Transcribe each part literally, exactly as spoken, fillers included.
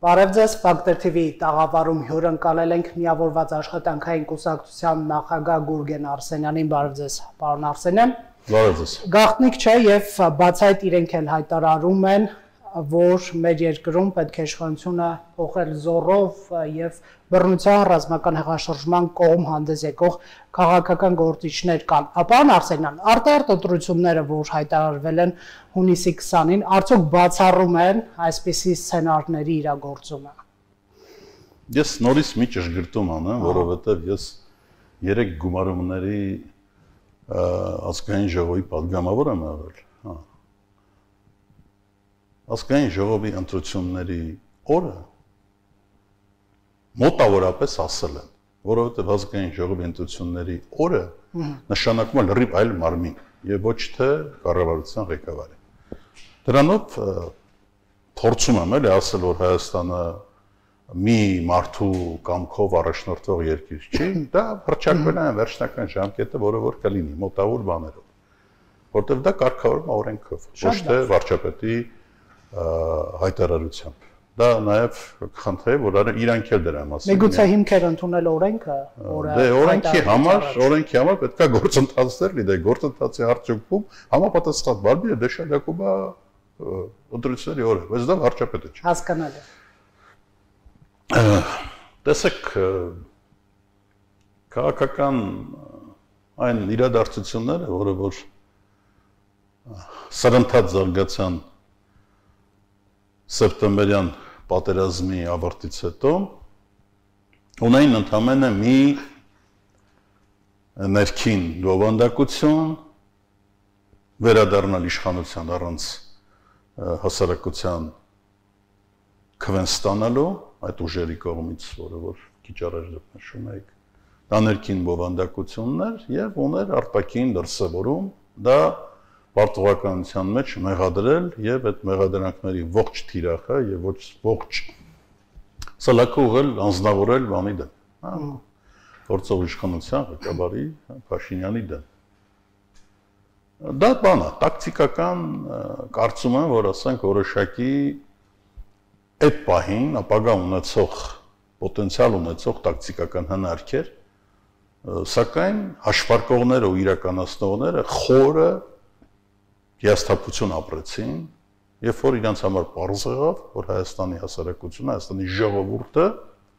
Բարև ձեզ, Ֆակտոր թի վի տաղավարում հյուրընկալել ենք միավորված աշխատանքային կուսակցության նախագահ Գուրգեն Արսենյանին, բարև ձեզ, պարոն Արսենյան։ Բարև ձեզ։ Գաղտնիք չէ եւ բացահայտ իրենք էլ հայտարարում են, որ մեր երկրում պետք է իշխանությունը փոխել զոռով եւ բռնության ռազմական հեղաշրջման կողմ հանդես եկող քաղաքական գործիչներ կան։ Պարոն Արսենյան, արտահերթ ընտրությունները, որ հայտարարվել են հունիսի քսանին, արդյոք բացառում են այսպիսի սցենարների իրագործումը։ Ես նորից մի ճշգրտում անեմ, որովհետեւ ես երեք գումարումների ազգային ժողովի падգամավոր եմ եղել, հա։ Ազգային ժողովի ընտրությունների օրը մոտավորապես ասել են, որովհետև ազգային ժողովի ընտրությունների օրը նշանակում է լրիվ այլ մարմին եւ ոչ թե կառավարության ղեկավարը։ Դրանով փորձում եմ էլի ասել, որ Հայաստանը մի մարդու կամքով առաջնորդվող երկիր չի, դա հռչակվել է վերջնական ժամկետը, որը որ կլինի մոտավոր բաներով, որտեղ դա կարգավորվում է օրենքով, ոչ թե վարչապետի հայտարարությամբ։ Դա նաև խնդրեմ, որ իրանք էլ դրա մասին։ Միգուցե հիմքեր ընդունել օրենքը, որը Դե օրենքի համար, օրենքի համար պետք է գործընթացներ լինի, գործընթացի արդյունքում համապատասխան բարբիրը դեշալակում է ընտրությունների օրը, բայց դա վարչապետը չէ։ Հասկանալի։ Տեսեք, քաղաքական այն իրադարձությունները, որը որ սրընթաց զարգացան սեպտեմբերյան պատերազմի ավարտից հետո ունեին ընդամենը մի ներքին բովանդակություն վերադառնալ իշխանության առանց հասարակության քվեն ստանալու այդ ուժերի կողմից, որը որ քիչ առաջ նշում եք, դա ներքին բովանդակություններ եւ ուներ արտաքին դրսևորում, դա պարտավորականության մեջ մեղադրել եւ այդ մեղադրանքների ողջ թիրախը եւ ոչ ողջ սալակը ուղղել անձնավորել բանի դեմ, հա, գործող իշխանության ղեկավարի Փաշինյանի դեմ։ Դա բան է, տակտիկական կարծում եմ, որ ասենք որոշակի այդ պահին ապագա ունեցող պոտենցիալ ունեցող տակտիկական հնարքեր, սակայն հաշվարկողները ու իրականացնողները խորը հիասթափություն ապրեցին, երբ որ իրանց համար պարզ եղավ, որ Հայաստանի հասարակությունը, Հայաստանի ժողովուրդը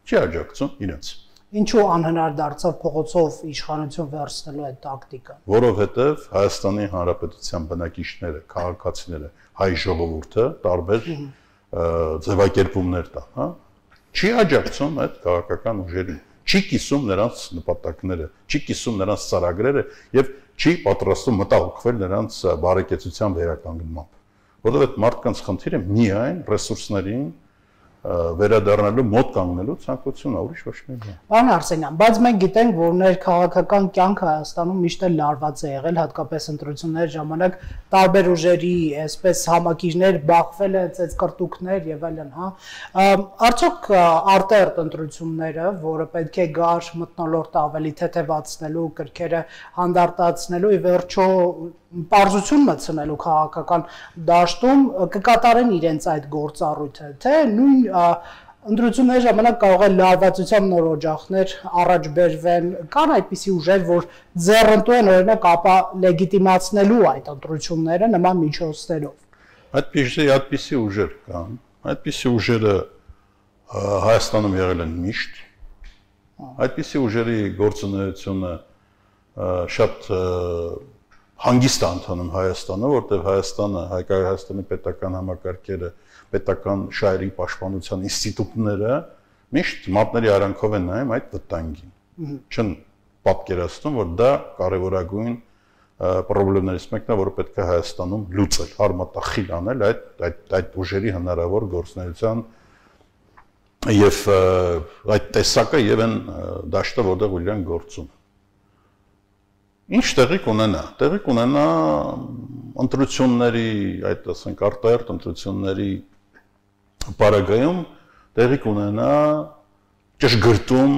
չի աջակցում իրենց։ Ինչու անհնար դարձավ փողոցով իշխանություն վերցնելու այդ տակտիկան։ Որովհետև Հայաստանի Հանրապետության բնակիչները, քաղաքացիները, հայ ժողովուրդը տարբեր ձևակերպումներ տա, հա, չի աջակցում այդ քաղաքական ուժերին, չի կիսում նրանց նպատակները, չի կիսում նրանց ծրագրերը եւ չի պատրաստում մտահոգվել նրանց բարեկեցության վերականգնմամբ, որովհետև այդ մարդկանց խնդիրը միայն ռեսուրսներին վերադառնալու մոտ կանգնելու ցանկությունն է, ուրիշ ոչ մի բան։ Պարոն Արսենյան, բայց մենք գիտենք, որ ներքաղաքական կյանքը Հայաստանում միշտ էլ լարված է եղել, հատկապես ընտրությունների ժամանակ տարբեր ուժերի, այսպես համակիրներ բախվել են, ծեծկռտուքներ եւ այլն, հա։ Արդյոք արտահերթ ընտրությունները, որը պետք է գար մթնոլորտը ավելի թեթևացնելու, կրքերը հանդարտացնելու, ի վերջո պարզություն մտցնելու քաղաքական դաշտում կկատարեն իրենց այդ գործառույթը, թե նույն ընտրությունների ժամանակ կարող է լարվածության նոր օջախներ առաջ բերվեն, կան այդպիսի ուժեր, որ ձեռնտու են օրինակ ապա լեգիտիմացնելու այդ ընտրությունները նման միջոցներով։ Այդպիսի այդպիսի ուժեր կան, այդպիսի ուժերը Հայաստանում եղել են միշտ, այդպիսի ուժերի գործունեությունը շատ հանգիստ է ընթանում Հայաստանը, որտեղ Հայաստանը, Հայկական պետական համակարգերը, պետական շահերի պաշտպանության ինստիտուտները միշտ մատների արանքով են նայում այդ վտանգին։ Չեն պատկերացնում, որ դա կարևորագույն խնդիրներից մեկն է, որը պետք է Հայաստանում լուծել, արմատախիլ անել այդ այդ այդ ուժերի հնարավոր գործունեության եւ այդ տեսակը եւ այն դաշտը, որտեղ իրենք գործում։ Ինչ տեղի կունենա, տեղի կունենա ընտրությունների, այդ ասենք արտահերթ ընտրությունների պարագայում տեղի կունենա ճշգրտում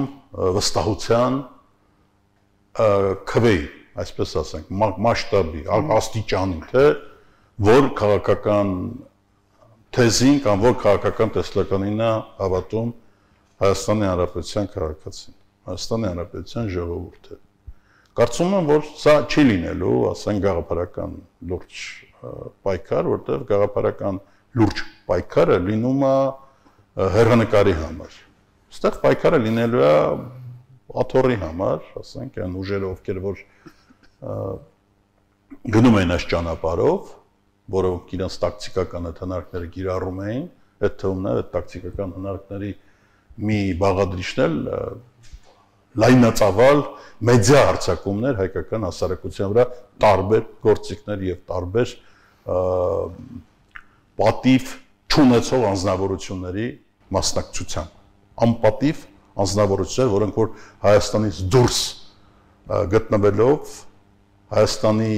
վստահության քվեի, այսպես ասենք, մասշտաբի, աստիճանի, թե որ քաղաքական թեզին կամ որ քաղաքական տեսլականին է հավատում Հայաստանի Հանրապետության քաղաքացին, Հայաստանի Հանրապետության ժողովուրդը։ Կարծում եմ, որ սա չի լինելու, ասենք գաղափարական լուրջ պայքար, որտեղ գաղափարական լուրջ պայքարը լինում է հեռանկարի համար։ Այստեղ պայքարը լինելու է աթոռի համար, ասենք այն ուժերը, ովքեր որ գնում են այս ճանապարհով, որոնք իրենց տակտիկական հնարքները կիրառում էին, այդ թվում է այդ տակտիկական հնարքների մի բաղադրիչն էլ լայնածավալ մեդիա հարձակումներ հայկական հասարակության վրա տարբեր գործիքներ եւ տարբեր պատիվ չունեցող անձնավորությունների մասնակցությամբ, անպատիվ անձնավորություններ, որոնք որ Հայաստանից դուրս գտնվելով Հայաստանի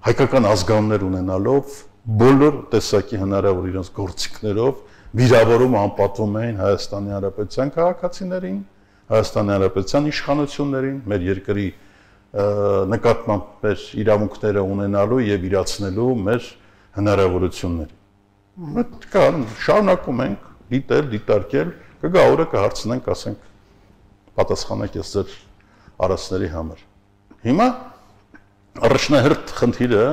հայկական ազգանուններ ունենալով բոլոր տեսակի հնարավոր իրենց գործիքներով վիրավորում անպատվում էին Հայաստանի Հանրապետության քաղաքացիներին, Հայաստանի Հանրապետության իշխանություններին, մեր երկրի նկատմամբ մեր իրավունքները ունենալու եւ իրացնելու մեր հնարավորությունները։ Մենք կան շարունակում ենք դիտել, դիտարկել, կգա օրը կհարցնենք, ասենք, պատասխանեք ես ձեր արածների համար։ Հիմա առաջնահերթ խնդիրը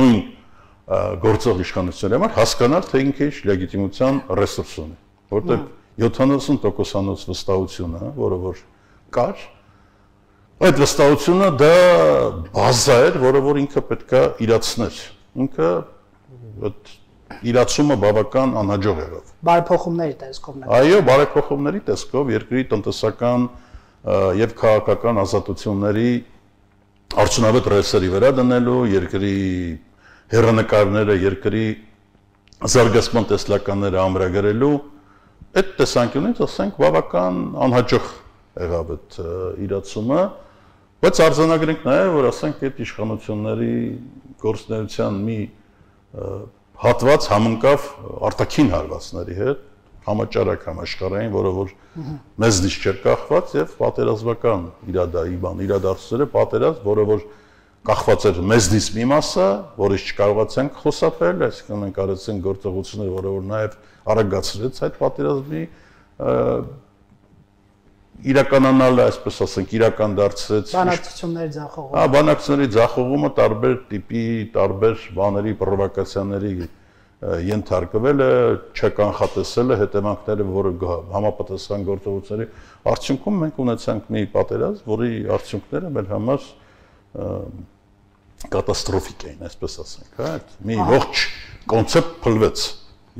նույն գործող իշխանությունների համար հասկանալ, թե ինքը ինչ լեգիտիմության ռեսուրս ունի, որտեղ յոթանասուն տոկոսանոց վստահությունը, որը որ կար, այդ վստահությունը դա բազա էր, որը որ ինքը պետք է իրացներ։ Ինքը այդ իրացումը բավական անհաջող եղավ։ Բարեփոխումների տեսքով։ Այո, բարեփոխումների տեսքով երկրի տնտեսական եւ քաղաքական ազատությունների արդյունավետ ռեսուրսերի վրա դնելու, երկրի հեռանկարները, երկրի զարգացման տեսլականները ամրագրելու, այդ տեսանկյունից ասենք բավական անհաջող եղավ այդ իրացումը, բայց արձանագրենք նաև, որ ասենք այդ իշխանությունների գործունեության մի հատված համընկավ արտաքին հարվածների հետ, համաճարակ համաշխարհային, որը որ մեզնից չէր կախված եւ պատերազմական իրադայի բան, իրադարձությունները պատերազմ, որը որ կախված էր մեզնից մի մասը, որից չկարողացանք խոսապել, այսինքն մենք արեցինք գործողություններ, որը որ նաև արագացրեց այդ պատերազմի իրականանալը, այսպես ասենք, իրական դարձրեց բանակցությունների ձախողումը։ Հա, բանակցությունների ձախողումը տարբեր տիպի, տարբեր բաների, պրովոկացիաների ենթարկվելը, չկանխատեսելը, հետևանքները, որը համապատասխան գործողությունների արդյունքում մենք ունեցանք մի պատերազմ, որի արդյունքները մեր համար կատաստրոֆիկ էին, այսպես ասենք, հա, մի ողջ կոնցեպտ փլվեց,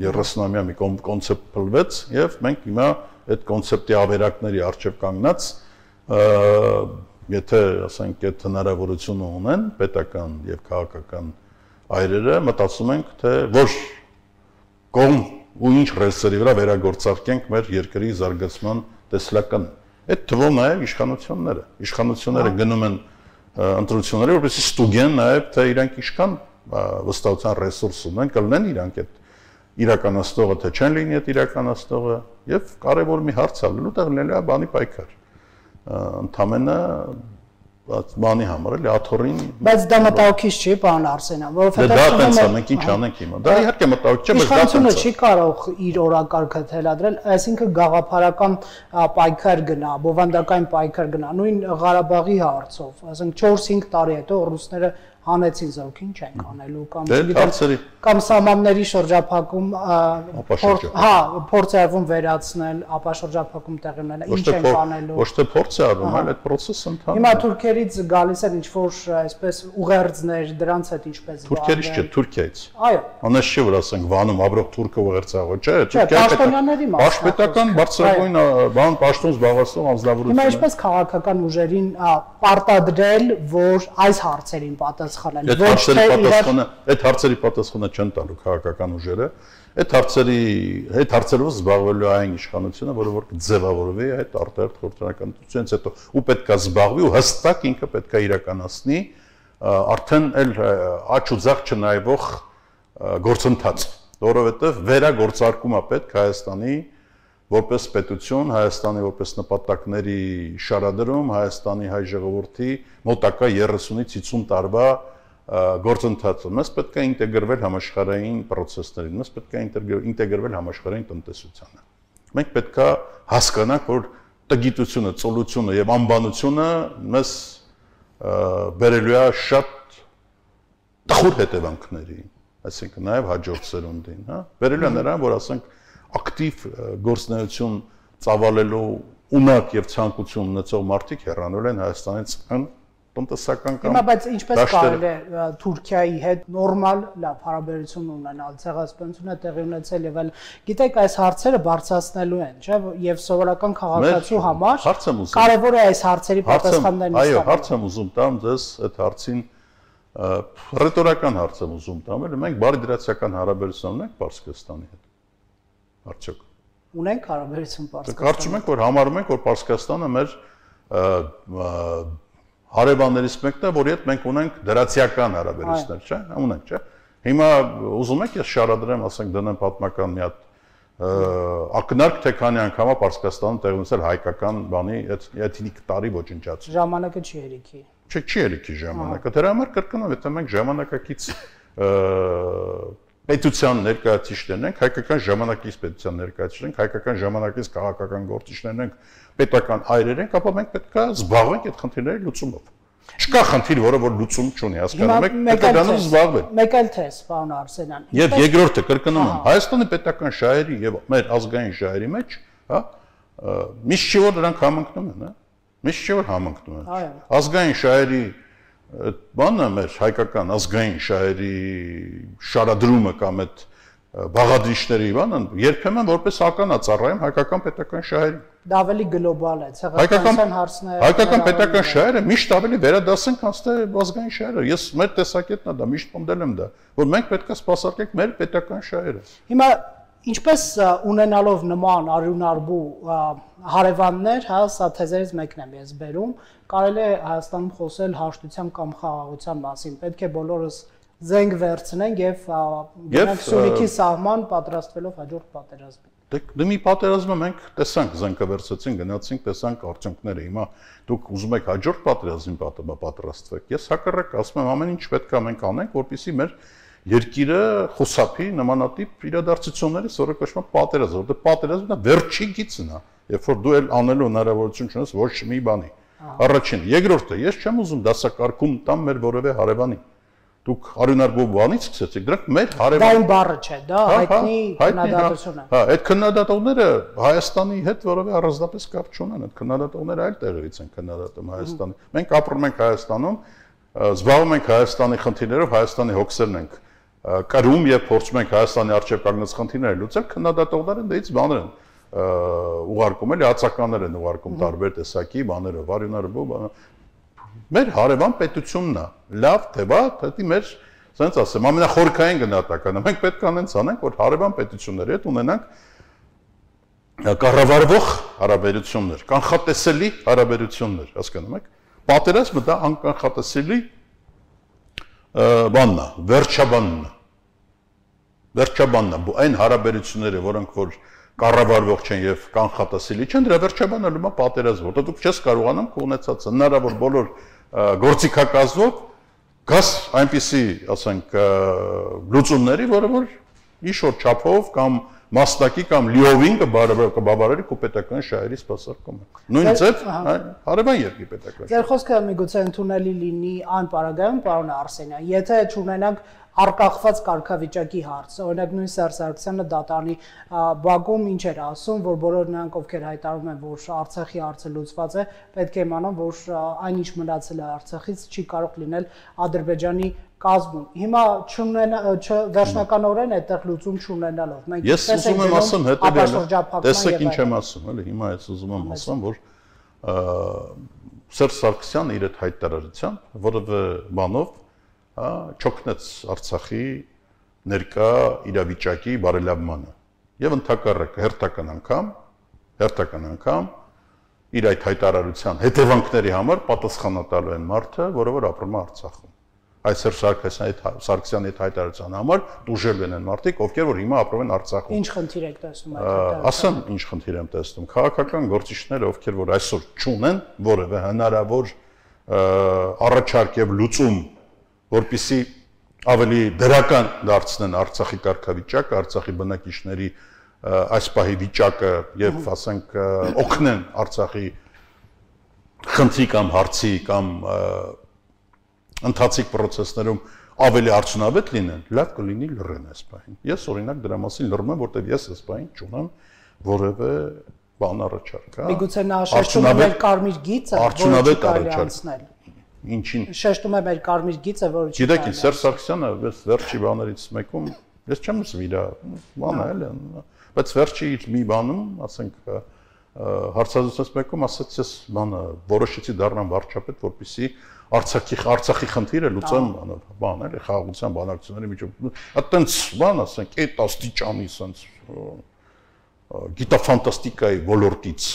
երեսնամյա մի կոնցեպտ փլվեց եւ մենք հիմա այդ կոնցեպտի ավերակների արժեվ կանգնած եթե ասենք այդ հնարավորությունը ունեն պետական եւ քաղաքական այրերը մտածում ենք թե որ կողմ ու ինչ ռեսուրսերի վրա վերագործարկենք մեր երկրի զարգացման տեսլականը այդ թվում նաեւ իշխանությունները իշխանությունները գնում են ընտրությունները որպեսզի ստուգեն նաեւ թե իրանք ինչքան վստահության ռեսուրս ունեն կլինեն իրանք այդ իրականացնողը թե չեն լինի այդ իրականացնողը եւ կարեւոր մի հարց է լինելու տեղ լինելու է բանի պայքար ընդամենը բանի համար էլի աթոռին բայց դա մտահոգիչ չի պարոն Արսենյան որովհետեւ դա տենց է մենք ինչ անենք հիմա դա իհարկե մտահոգիչ չէ բայց դա իշխանությունը չի կարող իր օրակարգը թելադրել այսինքն գաղափարական պայքար գնա բովանդակային պայքար գնա նույն Ղարաբաղի հարցով ասենք չորս-հինգ տարի հետո ռուսները հանեցին զորքին չենք անելու կամ չգիտեմ կամ սահմանների շրջափակում հա փորձ է արվում վերացնել ապա շրջափակում տեղի ունենա ինչ ենք անելու ոչ թե փորձ է արվում այլ այդ process-ը ընթանում հիմա թուրքերից գալիս են ինչ որ այսպես ուղերձներ դրանց հետ ինչպես թուրքերից չէ Թուրքիայից այո անես չէ որ ասենք Վանում ապրող թուրքը ուղերձաղը չէ Թուրքիայի պաշտպանական բարձրագույն բան պաշտոն զբաղեցնող անձնավորություն հիմա ինչպես քաղաքական ուժերին պարտադրել որ այս հարցերին պատասխան Այդ հարցերի պատասխանը, այդ հարցերի պատասխանը չեն տալու քաղաքական ուժերը, այդ հարցերի, այդ հարցերով զբաղվելու այն իշխանությունը, որը որ կձևավորվի այդ արտահերթ խորհրդարանությունից հետո, ու պետք է զբաղվի ու հստակ ինքը պետք է իրականացնի արդեն էլ աճ ու ձախ չնայվող գործընթաց, որովհետև վերագործարկում է պետք Հայաստանի որպես պետություն, Հայաստանի որպես նպատակների շարադրում, Հայաստանի հայ ժողովրդի մոտակա երեսունից հիսուն տարվա գործընթացը, մեզ պետք է ինտեգրվել համաշխարհային process-ներին, մեզ պետք է ինտեգրվել համաշխարհային տնտեսությանը։ Մենք պետք է հասկանանք, որ տգիտությունը, ծոլությունը եւ անբանությունը մեզ բերելու է շատ տխուր հետևանքների, այսինքն նաեւ հաջորդ սերունդին, հա, բերելու է նրան, որ ասենք ակտիվ գործունեություն ծավալելու ունակ եւ ցանկություն ունեցող մարդիկ հեռանալ են Հայաստանից ան տնտեսական կամ Հիմա բայց ինչպես կարելի է Թուրքիայի հետ նորմալ լավ հարաբերություն ունենալ, ցեղասպանությունը տեղի ունեցել եւ այլ։ Գիտեք, այս հարցերը բարձրացնելու են, չէ՞, եւ սովորական քաղաքացու համար կարեւոր է այս հարցերի պատասխաններն ստանալ։ Այո, հարց եմ ուզում տամ ձեզ այդ հարցին ռետորական հարց եմ ուզում տամ, էլ մենք բարի դրացիական հարաբերություն ունենք Պարսկաստանի հետ։ Արդյոք ունենք հարաբերություն Պարսկաստանի։ Կարծում եք, որ համարում ենք, որ Պարսկաստանը մեր հարևաններից մեկն է, որի հետ մենք ունենք դրացիական հարաբերություններ, չէ՞, ունենք, չէ՞։ Հիմա ուզում եք ես շարադրեմ, ասենք դնեմ պատմական մի հատ ակնարկ, թե քանի անգամ է Պարսկաստանում տեղի ունեցել հայկական բանի էթնիկ տարի ոչնչացում։ Ժամանակը չի երիքի։ Չէ, չի երիքի ժամանակը։ Դրա համար կրկնով, եթե մենք ժամանակակից պետության ներկայացուցիչներն ենք, հայկական ժամանակից պետության ներկայացուցիչներ ենք, հայկական ժամանակից քաղաքական գործիչներն ենք, պետական այրեր ենք, ապա մենք պետք է զբաղվենք այդ խնդիրների լուծումով։ Չկա խնդիր, որը որ լուծում չունի, հասկանում եք, պետք է դրանով զբաղվել։ Մեկ էլ թե, պարոն Արսենյան։ Եվ երկրորդը կրկնում եմ, Հայաստանի պետական շահերի եւ մեր ազգային շահերի մեջ, հա, միշտ չի որ դրանք համընկնում են, հա։ Միշտ չի որ համընկնում են։ Ազգային շահերի բանը մեր հայկական ազգային շահերի շարադրումը կամ այդ բաղադրիչների բանը երբեմն որպես ականա ծառայում հայկական պետական շահերին։ Դա ավելի գլոբալ է, ցեղասպանության հարցները։ Հայկական պետական շահերը միշտ ավելի վերադասեն, քան թե ազգային շահերը։ Ես մեր տեսակետն է դա, միշտ պնդել եմ դա, որ մենք պետք է սպասարկենք մեր պետական շահերը։ Հիմա ինչպես ունենալով նման արյունարբու հարևաններ, հա, սա թեզերից մեկն եմ ես բերում, կարելի է Հայաստանում խոսել հաշտության կամ խաղաղության մասին։ Պետք է բոլորս զենք վերցնենք եւ գնանք Սյունիքի սահման պատրաստվելով հաջորդ պատերազմին։ Դե մի պատերազմը մենք տեսանք, զենքը վերցեցին, գնացինք, տեսանք արդյունքները։ Հիմա դուք ուզում եք հաջորդ պատերազմին պատրաստվեք։ Ես հակառակ ասում եմ, ամեն ինչ պետք է մենք անենք, որպեսզի մեր երկիրը խուսափի նմանատիպ իրադարձություններից, որը կոչվում է պատերազմ, որտեղ պատերազմն է վերջի գիծն է, երբ որ դու էլ անելու հնարավորություն չունես ոչ մի բանի։ Առաջին, երկրորդը, ես չեմ ուզում դասակարգում տամ մեր որևէ հարևանի։ Դուք արյունարբու բանից սկսեցիք, դրանք մեր հարևան։ Դա այն բառը չէ, դա հայտնի քննադատություն է։ Հա, այդ քննադատողները Հայաստանի հետ որևէ առանձնապես կապ չունեն, այդ քննադատողները այլ տեղերից են քննադատում Հայաստանի։ Մենք ապրում ենք Հայաստանում, զբաղվում ենք Հայաստանի խնդիրներով, Հայաստանի հոգսերն ենք կրում եւ փորձում ենք Հայաստանի արժեվ կանգնած խնդիրները լուծել, քննադատողները դից բաներ են ուղարկում, էլի հացականներ են ուղարկում տարբեր տեսակի բաներով, արյունարբու բան։ Մեր հարևան պետությունն է, լավ թե վատ, դա մեր, ասենց ասեմ, ամենախորքային գնահատականը։ Մենք պետք է անենց անենք, որ հարևան պետությունների հետ ունենանք կառավարվող հարաբերություններ, կանխատեսելի հարաբերություններ, հասկանում եք։ Պատերազմը դա անկանխատեսելի բանն է, վերջաբանն է։ Վերջաբանն է, այն հարաբերությունները, որոնք որ կառավարվող չեն եւ կանխատեսելի չեն, դրա վերջաբանը լույսը պատերազմ, որտեղ դուք չես կարողանում կունեցած հնարավոր բոլոր գործիքակազմով գաս այնպիսի, ասենք, լուծումների, որը որ ինչ-որ չափով կամ մասնակի կամ լիովին կբավարարի քո պետական շահերի սպասարկումը։ Նույն ձև հարևան երկրի պետական։ Ձեր խոսքը միգուցե ընդունելի լինի այն պարագայում, պարոն Արսենյան, եթե չունենանք արկախված կարգավիճակի հարց, օրինակ նույն Սերժ Սարգսյանը դատարանի բակում ինչ էր ասում, որ բոլոր նրանք, ովքեր հայտարարում են, որ Արցախի հարցը լուծված է, պետք է իմանան, որ այն ինչ մնացել է Արցախից չի կարող լինել Ադրբեջանի կազմում։ Հիմա վերջնականորեն այդտեղ լուծում չունենալով մենք ես ուզում եմ ասեմ հետևյալը, տեսեք ինչ եմ ասում, էլի հիմա ես ուզում եմ ասեմ, որ Սերժ Սարգսյանը իր այդ հայտարարությամբ որևէ բանով չօգնեց Արցախի ներկա իրավիճակի բարելավմանը եւ ընդհակառակը հերթական անգամ հերթական անգամ իր այդ հայտարարության հետևանքների համար պատասխանատալու են մարդը, որը որ ապրում է Արցախում։ Այս Սարգսյանի այդ հայտարարության համար դուժելու են մարդիկ, ովքեր որ հիմա ապրում են Արցախում։ Ինչ խնդիր եք տեսնում այդ հայտարարությամբ։ Ասեմ, ինչ խնդիր եմ տեսնում։ Քաղաքական գործիչները, ովքեր որ այսօր չունեն որևէ հնարավոր առաջարկ եւ լուծում որպեսզի ավելի դրական դարձնեն Արցախի կարգավիճակը, Արցախի բնակիչների այս պահի վիճակը եւ ասենք օգնեն Արցախի խնդրի կամ հարցի կամ ընթացիկ process-ներում ավելի արդյունավետ լինեն, լավ կլինի լռեն այս պահին։ Ես օրինակ դրա մասին լռում եմ, որտեղ ես այս պահին չունեմ որևէ բան առաջարկ, հա։ Միգուցե նա շեշտում է մեր կարմիր գիծը, որը կարելի անցնել։ Ինչին։ Շեշտում է մեր կարմիր գիծը, որը չի։ Գիտեք, Սերժ Սարգսյանը այս վերջի բաներից մեկում, ես չեմ ասում իր բանը էլ, բայց վերջի իր մի բանում, ասենք հարցազրույցից մեկում ասաց, ես բանը որոշեցի դառնամ վարչապետ, որպեսզի Արցախի Արցախի խնդիրը լուծեմ, բան էլի խաղաղության բանակցությունների միջով։ Այդտենց բան, ասենք, այդ աստիճանի sense գիտաֆանտաստիկայի ոլորտից,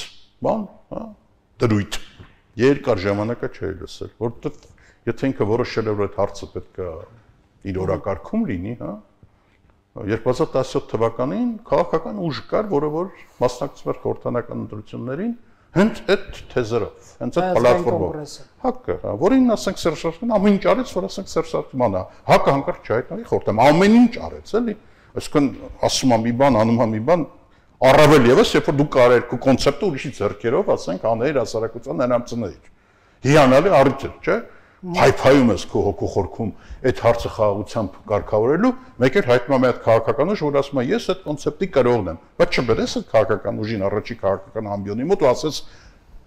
բան, հա, դրույթ։ Երկար ժամանակը չէի լսել, որովհետև եթե ինքը որոշել է, որ այդ հարցը պետք է իր օրակարգում լինի, հա, երկու հազար տասնյոթ թվականին քաղաքական ուժ կար, որը որ մասնակցում էր խորհրդանական ընտրություններին, հենց այդ թեզերով, հենց այդ պլատֆորմով։ Հակը, որին ասենք Սերժ Սարգսյանը ամեն ինչ արեց, որ ասենք Սերժ Սարգսյանը, հակը հանկարծ չհայտնի խորհրդում, ամեն ինչ արեց, էլի։ Այսինքն ասում եմ մի բան, անում եմ մի բան, առավել եւս, երբ որ դու կարեր քո կոնցեպտը ուրիշի ձեռքերով, ասենք, անել հասարակության ներամծներ։ Հիանալի առիթ է, չէ՞։ Փայփայում ես քո հոգու խորքում այդ հարցը խաղաղությամբ կարգավորելու, մեկ էլ հայտնում է այդ քաղաքական ուժ, որ ասում է ես այդ կոնցեպտի կրողն եմ, բայց չբերես այդ քաղաքական ուժին առաջի քաղաքական ամբիոնի մոտ ու ասես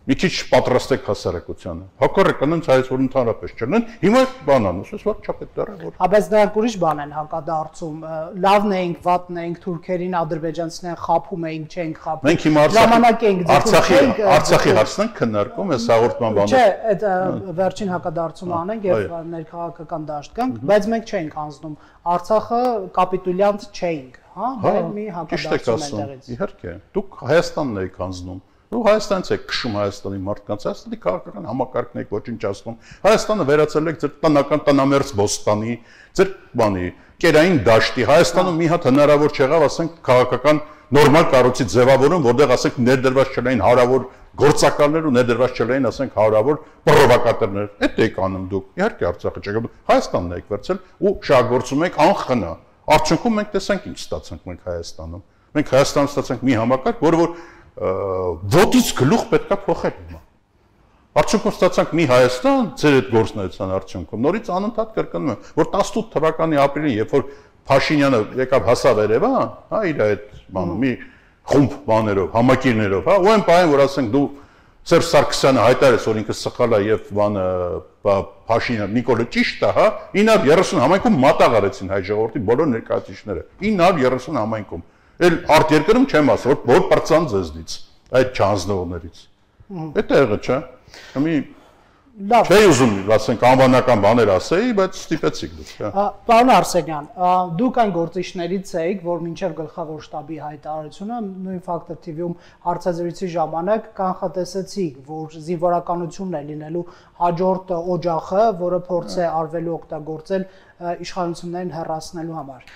մի քիչ պատրաստեք հասարակությանը։ Հակառակը նենց հայց որ ընդհանրապես չլինեն, հիմա բանան, ասես վարչապետ դառը որ։ Բայց նրանք ուրիշ բան են հակադարձում, լավն էինք, վատն էինք, թուրքերին, ադրբեջանցիներին խափում էինք, չենք խափում։ Մենք հիմա Արցախի Արցախի հարցն ենք քննարկում, այս հաղորդման բանը։ Չէ, այդ վերջին հակադարձումը անենք եւ ներքաղաքական դաշտ գանք, բայց մենք չենք անցնում։ Արցախը կապիտուլյանտ չէինք, հա, դա մի հակադարձում է դերից։ Իհարկե, դուք Հայաստանն եք անցնում։ Ու Հայաստանից եք քշում Հայաստանի մարդկանց, Հայաստանի քաղաքական համակարգն եք ոչնչացնում։ Հայաստանը վերածել եք ձեր տնական տնամերձ Բոստանի, ձեր բանի, կերային դաշտի։ Հայաստանում մի հատ հնարավոր չեղավ, ասենք, քաղաքական նորմալ կառույցի ձևավորում, որտեղ ասենք ներդրված չլային հարավոր գործակալներ ու ներդրված չլային, ասենք, հարավոր պրովոկատորներ։ Այդ եք անում դուք։ Իհարկե Արցախը չեք, Հայաստանն եք վերցել ու շահագործում եք անխնա։ Արդյունքում մենք տեսանք ինչ ստացանք մենք Հայաստանում։ Մենք Հայաստանում ստացանք մի համակարգ, որը որ ոտից գլուխ պետքա փոխել հիմա։ Արդյունքում ստացանք մի Հայաստան, ձեր այդ գործնական արդյունքում նորից անընդհատ կրկնում եմ, որ տասնութ թվականի ապրիլին, երբ որ Փաշինյանը եկավ հասավ Երևան, հա, իր այդ բանը մի խումբ բաներով, համակիրներով, հա, ու այն բանը, որ ասենք դու Սերժ Սարգսյանը հայտարարեց, որ ինքը սխալ է եւ բանը Փաշինյանը Նիկոլը ճիշտ է, հա, ինը հարյուր երեսուն համայնքում մատաղ արեցին հայ ժողովրդի բոլոր ներկայացուցիչները։ ինը հարյուր երեսուն համայնքում Էլ արտերկրում չեմ ասում, որ պրծան ձեզնից, այդ չանձնողներից։ Այդ եղը չէ։ Մի լավ։ Չէի ուզում, ասենք, անվանական բաներ ասեի, բայց ստիպեցիք դուք, հա։ Պարոն Արսենյան, դուք այն գործիչներից եք, որ մինչև գլխավոր շտաբի հայտարարությունը նույն Factor T V-ում հարցազրույցի ժամանակ կանխատեսեցիք, որ զինվորականությունն է լինելու հաջորդ օջախը, որը փորձ է արվելու օգտագործել իշխանություններին հեռացնելու համար։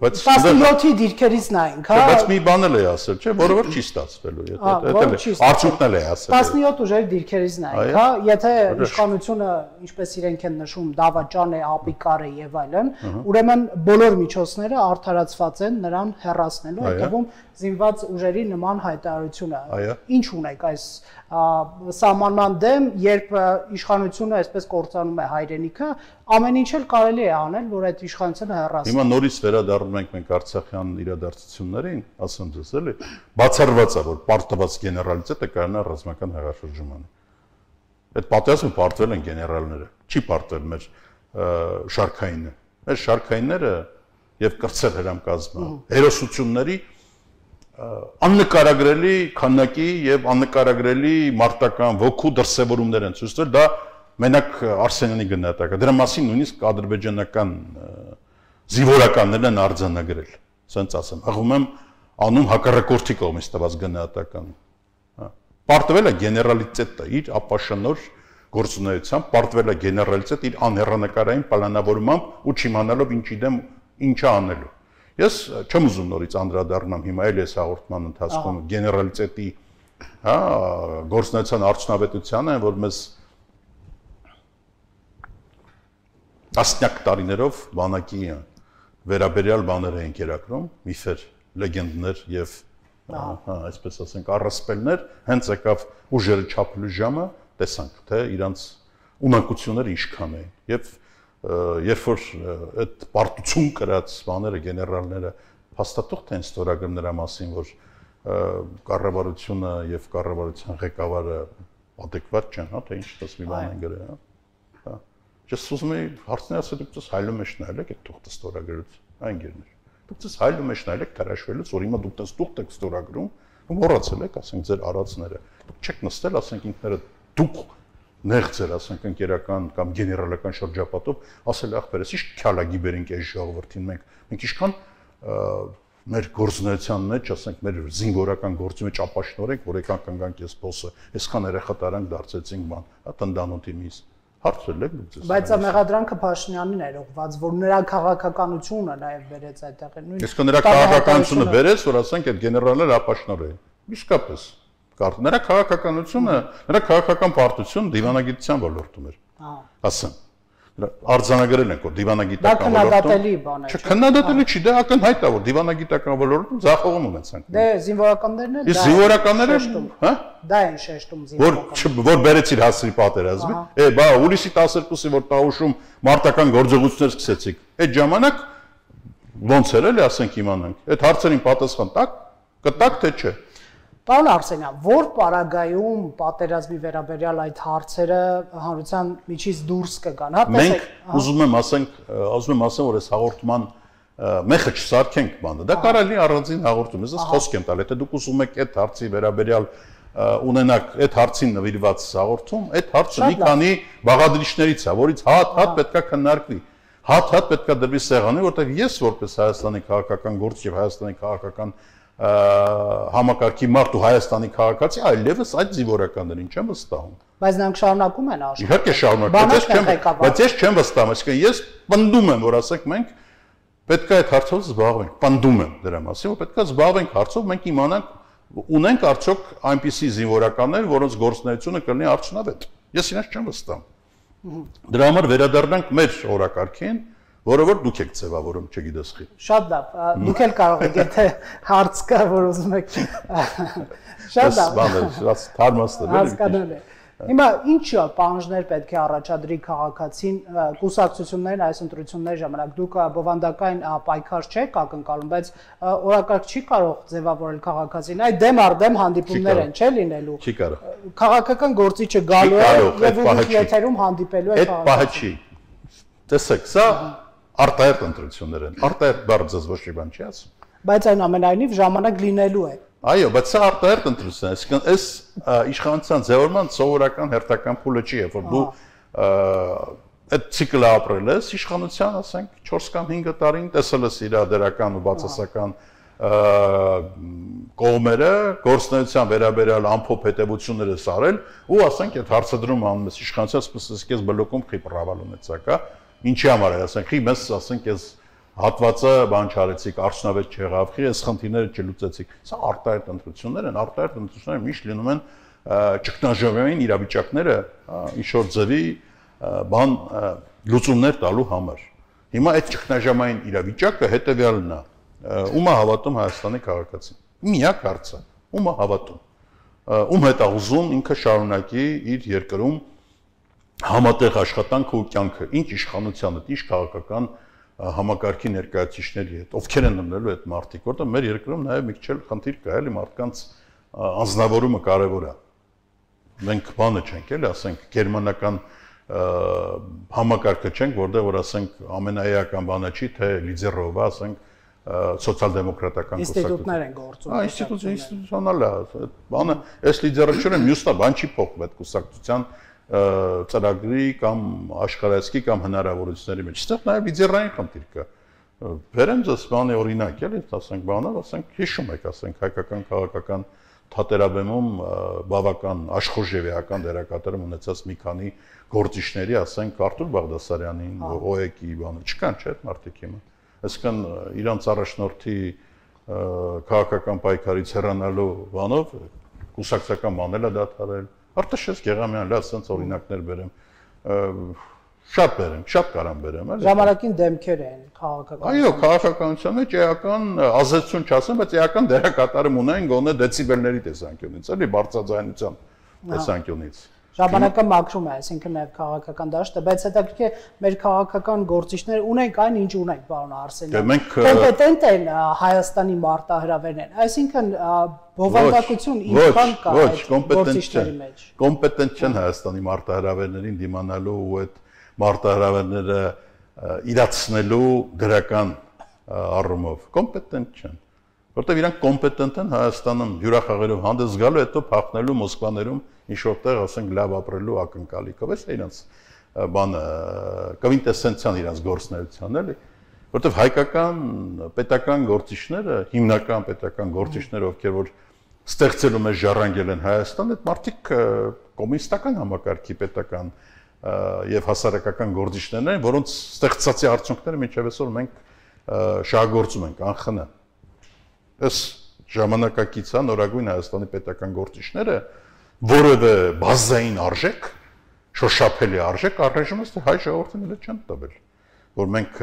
տասնյոթի դիրքերից նայենք, հա։ Բայց մի բան էլ է ասել, չէ, որը որ չի ստացվելու, եթե արդյունքն էլ է ասել։ տասնյոթ ուժերի դիրքերից նայենք, հա, եթե իշխանությունը, ինչպես իրենք են նշում, դավաճան է, ապիկար է եւ այլն, ուրեմն բոլոր միջոցները արդարացված են նրան հեռացնելու, հետևում զինված ուժերի նման հայտարարությունը։ Ինչ ունեք այս սահմանման դեմ, երբ իշխանությունը այսպես կործանում է հայրենիքը, ամեն ինչ էլ կարելի է անել, որ այդ իշխանությունը հեռացնի։ Հիմա նորից վերադառնում ենք մենք Արցախյան իրադարձություններին, ասեմ ձեզ էլի, բացառված է, որ պարտված գեներալիտետը կայանա ռազմական հեղաշրջումանը։ Այդ պատերազմը պարտվել են գեներալները, չի պարտվել մեր շարքայինը։ Մեր շարքայինները եւ կրծել հրամկազմը, հերոսությունների աննկարագրելի քանակի եւ աննկարագրելի մարտական ոգու դրսևորումներ են ցույց տվել, դա մենակ Արսենյանի գնահատակը։ Դրա մասին նույնիսկ ադրբեջանական զինվորականներն են արձանագրել, ասենց ասեմ, աղում եմ անում հակառակորդի կողմից տված գնահատականը։ Պարտվել է գեներալիտետը իր ապաշնոր գործունեությամբ, պարտվել է գեներալիտետը իր անհեռանկարային պլանավորմամբ ու չիմանալով ինչի դեմ ինչա անելու։ Ես չեմ ուզում նորից անդրադառնամ հիմա էլ ես հաղորդման ընթացքում գեներալիտետի, հա, գործնական արդյունավետությանը, որ մեզ տասնյակ տարիներով բանակի վերաբերյալ բաներ էին կերակրում, միֆեր, լեգենդներ եւ հա, այսպես ասենք, առասպելներ, հենց եկավ ուժերը չափելու ժամը, տեսանք, թե իրանց ունակությունները ինչքան էին եւ երբ որ այդ պարտություն կրած բաները գեներալները հաստատող են ստորագրում նրա մասին, որ կառավարությունը եւ կառավարության ղեկավարը adekvat չեն, հա, թե ինչ տեսնի բան են գրել, հա։ Ես ուզում եի հարցնել, ասել դուք հայլու մեջ նայել եք այդ թուղթը ստորագրելուց, այն գերներ։ Դուք ցես հայլու մեջ նայել եք թրաշվելուց, որ հիմա դուք տես թուղթ եք ստորագրում, ու մոռացել եք, ասենք ձեր արածները։ Դուք չեք նստել, ասենք ինքները դուք նեղձեր, ասենք ընկերական կամ գեներալական շրջապատով, ասել ախպերս, ի՞նչ քյալագիբեր ենք այս ժողովրդին մենք։ Մենք ինչքան մեր գործունեության մեջ, ասենք մեր զինվորական գործի մեջ ապաշնոր ենք, որ եկան կանգանք ես բոսը, այսքան երեխա տարանք դարձեցինք բան, հա տնտանոթի միս։ Հարցրել եք դուք ձեզ։ Բայց մեղադրանքը Փաշինյանին էր ուղղված, որ նրա քաղաքականությունը նաև վերեց այդտեղ նույն։ Իսկ նրա քաղաքականությունը վերեց, որ ասենք այդ գեներալները ապաշնոր էին։ Իսկապես նրա քաղաքականությունը, նրա քաղաքական պարտությունը դիվանագիտության ոլորտում էր։ Հա։ Ասեմ։ Արձանագրել ենք, որ դիվանագիտական ոլորտում։ Չէ, քննադատելի չի, դա ակնհայտ է, որ դիվանագիտական ոլորտում ձախողում ունեցանք։ Դե զինվորականներն էլ դա։ Զինվորականները, հա? Դա են շեշտում զինվորականները։ Որ որ բերեցիր հասրի պատերազմի։ Է, բա հուլիսի տասներկուսի որ Տաուշում մարտական գործողություններ սկսեցիք։ Այդ ժամանակ ոնց էր էլի, ասենք իմանանք։ Այդ հարցերին պատասխան տակ, կտակ թե չէ։ Պարոն Արսենյան, որ պարագայում պատերազմի վերաբերյալ այդ հարցերը հանրության միջից դուրս կգան, հա, տեսեք։ Մենք ուզում եմ ասենք, ուզում եմ ասեմ, որ այս հաղորդման մեխը չսարքենք բանը։ Դա կարելի առանձին հաղորդում, ես խոսք եմ տալ, եթե դուք ուզում եք այդ հարցի վերաբերյալ ունենաք այդ հարցին նվիրված հաղորդում, այդ հարցը մի քանի բաղադրիչներից է, որից հատ-հատ պետքա քննարկվի։ Հատ-հատ պետքա դրվի սեղանի, որտեղ ես որպես Հայաստանի քաղաքական գործ եւ Հայաստանի քաղաքական համակարգի մարդ ու Հայաստանի քաղաքացի այլևս այդ զինվորականներին չեմ վստահում։ Բայց նրանք շարունակում են աշխարհը։ Իհարկե շարունակում, բայց ես չեմ վստահում, այսինքն ես պնդում եմ, որ ասենք մենք պետք է այդ հարցով զբաղվենք, պնդում եմ դրա մասին, որ պետք է զբաղվենք հարցով, մենք իմանանք ունենք արդյոք այնպիսի զինվորականներ, որոնց գործունեությունը կլինի արդյունավետ։ Ես իրենց չեմ վստահում։ Դրա համար վերադառնանք մեր օրակարգին, որը որ դուք եք ձևավորում, չգիտես խի։ Շատ լավ, դուք էլ կարող եք, եթե հարց կա, որ ուզում եք։ Շատ լավ։ Բանը, թարմաստը։ Հասկանալի է։ Հիմա ինչ պահանջներ պետք է առաջադրի քաղաքացին կուսակցություններն այս ընտրությունների ժամանակ։ Դուք բովանդակային պայքար չեք ակնկալում, բայց օրակարգ չի կարող ձևավորել քաղաքացին։ Այդ դեմ առ դեմ հանդիպումներ են, չէ՞ լինելու։ Չի կարող։ Քաղաքական գործիչը գալու է եւ ուղիղ եթերում հանդիպելու է քաղաքացին։ Այդ պահը չի։ Տեսեք, սա արտահերտ ընտրություններ են։ Արտահերտ բառը ձեզ ոչ մի բան չի ասում։ Բայց այնուամենայնիվ ժամանակ լինելու է։ Այո, բայց սա արտահերտ ընտրություն է, այսինքն այս իշխանության ձևավորման սովորական հերթական փուլը չի, որ դու այդ ցիկլը ապրել ես, իշխանության, ասենք, չորս կամ հինգ տարին տեսել ես իր դերական ու բացասական կողմերը, գործունեության վերաբերյալ ամփոփ հետևությունները սարել ու ասենք այդ հարցադրումը անում ես իշխանության, ասես քեզ բլոկում խի պրավալ ունեցակա, ինչի համար է, ասենք, խի մեզ ասենք ես հատվածը բան չարեցիք, արդյունավետ չեղավ, խի այս խնդիրները չլուծեցիք։ Սա արտահերտ ընտրություններ են, արտահերտ ընտրությունները միշտ լինում են ճգնաժամային իրավիճակները ինչ-որ ձևի բան լուծումներ տալու համար։ Հիմա այդ ճգնաժամային իրավիճակը հետևյալն է. ում է հավատում Հայաստանի քաղաքացին։ Միակ հարցը, ում է հավատում։ Ում հետ է ուզում ինքը շարունակի իր երկրում համատեղ աշխատանքը ու կյանքը, ինչ իշխանությանը, ինչ քաղաքական համակարգի ներկայացուցիչների հետ, ովքեր են ըմբնելու այդ մարդիկ, որտեղ մեր երկրում նաև մի քիչ խնդիր կա, էլի մարդկանց անձնավորումը կարևոր է։ Մենք բանը չենք, էլի, ասենք, գերմանական համակարգը չենք, որտեղ որ ասենք ամենաեական բանը չի, թե լիդերովը, ասենք, սոցիալ-դեմոկրատական ինստիտուտներ են գործում։ Հա, ինստիտուտ, ինստիտուցիոնալ է, բանը, այս լիդերաչորը մյուսն է, բան չի փոխվում այդ կուսակցության ծրագրի կամ աշխարհայացքի կամ հնարավորությունների մեջ։ Այստեղ նաև լիդերային խնդիր կա։ Վերեմ ձեզ բանի օրինակ, էլի, ասենք բանով, ասենք հիշում եք, ասենք հայկական քաղաքական թատերաբեմում բավական աշխուժևիական դերակատարում ունեցած մի քանի գործիչների, ասենք Արտուր Բաղդասարյանին, օ է կի բանը, չկան, չէ՞, այդ մարդիկ հիմա։ Այսինքն իրանց առաջնորդի քաղաքական պայքարից հեռանալու բանով կուսակցական բանել է դադարել։ Արտաշես Գեղամյան, լավ, սենց օրինակներ բերեմ։ Շատ բերեմ, շատ կարամ բերեմ, էլի։ Ժամանակին դեմքեր են քաղաքական։ Այո, քաղաքականության մեջ էական ազդեցություն չասեմ, բայց էական դերակատարում ունեն գոնե դեցիբելների տեսանկյունից, էլի բարձրաձայնության տեսանկյունից։ Ժամանակը մաքրում է, այսինքն նաև քաղաքական դաշտը, բայց հետաքրքիր է մեր քաղաքական գործիչները ունենք այն, ինչ ունենք, պարոն Արսենյան։ Կոմպետենտ են Հայաստանի մարտահրավերներն, այսինքն բովանդակություն ինչքան կա այդ գործիչների մեջ։ Կոմպետենտ չեն Հայաստանի մարտահրավերներին դիմանալու ու այդ մարտահրավերները իրացնելու դրական առումով։ Կոմպետենտ չեն, որտեղ իրանք կոմպետենտ են Հայաստանում հյուրախաղերով հանդես գալու, հետո փախնելու Մոսկվաներում ինչ-որտեղ, ասենք, լավ ապրելու ակնկալիքով, էս է իրանց բանը կվինտեսենցիան իրանց գործնեության, էլի, որտեղ հայկական պետական գործիչները, հիմնական պետական գործիչները, ովքեր որ ստեղծելու մեջ ժառանգել են Հայաստան, այդ մարդիկ կոմունիստական համակարգի պետական եւ հասարակական գործիչներն են, որոնց ստեղծածի արդյունքները մինչև այսօր մենք շահագործում ենք անխնա։ Այս ժամանակակից է նորագույն Հայաստանի պետական գործիչները որևէ բազային արժեք, շոշափելի արժեք առայժմ ըստ հայ ժողովրդին էլ չեն տվել, որ մենք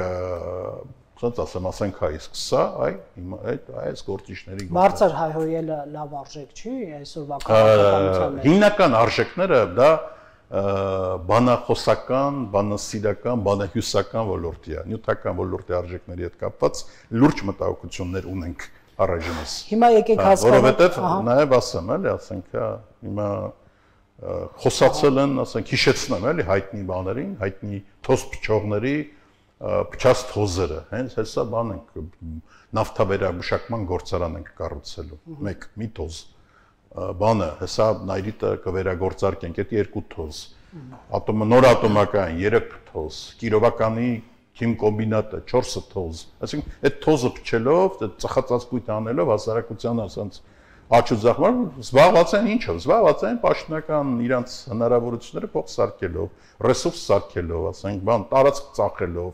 ասած ասեմ, ասենք հայ սկսա, այ հիմա այդ այս գործիչների բարձր հայհոյելը լավ արժեք չի այսօրվա քաղաքականության մեջ։ Հիմնական արժեքները դա բանախոսական, բանասիրական, բանահյուսական ոլորտի է, նյութական ոլորտի արժեքների հետ կապված լուրջ մտահոգություններ ունենք առայժմս։ Հիմա եկեք հասկանանք, որովհետև նաև ասեմ, էլի, ասենք, հիմա խոսացել են, ասենք, հիշեցնեմ, էլի, հայտնի բաներին, հայտնի թոզ փչողների փչած թոզերը, հենց հեսա բան ենք նավթավերամշակման գործարան ենք կառուցելու, մեկ մի թոզ, բանը, հեսա նայրիտը կվերագործարկենք, այդ երկու թոզ, նոր ատոմական երեք թոզ, կիրովականի քիմ կոմբինատը չորս թոզ, այսինքն այդ թոզը փչելով, այդ ծխածածկույթ անելով հասարակության ասած աճ ու ձախմար զբաղված են ինչով, զբաղված են պաշտոնական իրանց հնարավորությունները փող սարքելով, ռեսուրս սարքելով, ասենք, բան տարածք ծախելով,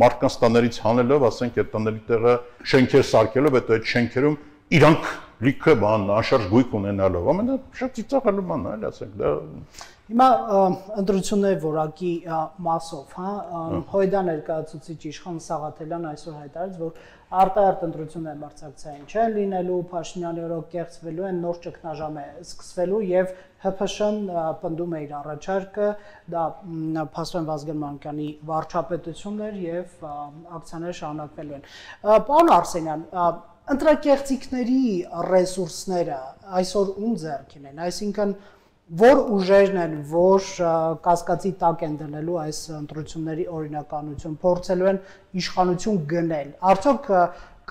մարդկանց տաներից հանելով, ասենք, այդ տների տեղը շենքեր սարքելով, հետո այդ շենքերում իրանք լիքը բան անշարժ գույք ունենալով, ամենա շատ ծիծաղալու բան է, այլ ասենք, դա Հիմա ընտրությունների որակի մասով, հա, Հույդա ներկայացուցիչ Իշխան Սաղաթելյան այսօր հայտարարեց, որ արտահերթ ընտրություններ մրցակցային չեն լինելու, Փաշինյանի օրոք կեղծվելու են, նոր ճգնաժամ է սկսվելու եւ Հ Փ Շ-ն պնդում է իր առաջարկը, դա Փաստորեն Վազգեն Մանուկյանի վարչապետություններ եւ ակցիաներ շարունակվելու են։ Պարոն Արսենյան, ընտրակեղծիքների ռեսուրսները այսօր ում ձեռքին են, այսինքն որ ուժերն են, որ կասկածի տակ են դնելու այս ընտրությունների օրինականություն, փորձելու են իշխանություն գնել։ Արդյոք